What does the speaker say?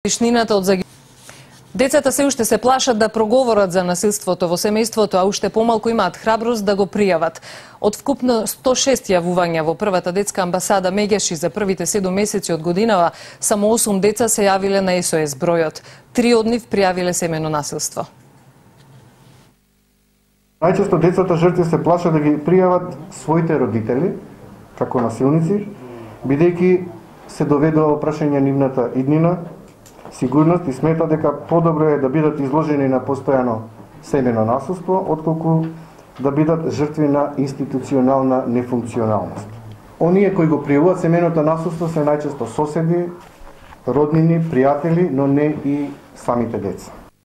Вишнината од Децата се уште се плашат да проговорат за насилството во семејството, а уште помалку имаат храброст да го пријават. Од вкупно 106 јавувања во првата детска амбасада Меѓаши за првите 7 месеци од годинава, само 8 деца се јавиле на СОС бројот. 3 од нив пријавиле семејно насилство. Најчесто децата жртви се плашат да ги пријават своите родители како насилници, бидејќи се доведува во прашање нивната иднина, сигурност и смета дека подобро е да бидат изложени на постојано семејно насилство, отколку да бидат жртви на институционална нефункционалност. Оние кои го пријавуваат семејното насилство се најчесто соседи, роднини, пријатели, но не и самите деца.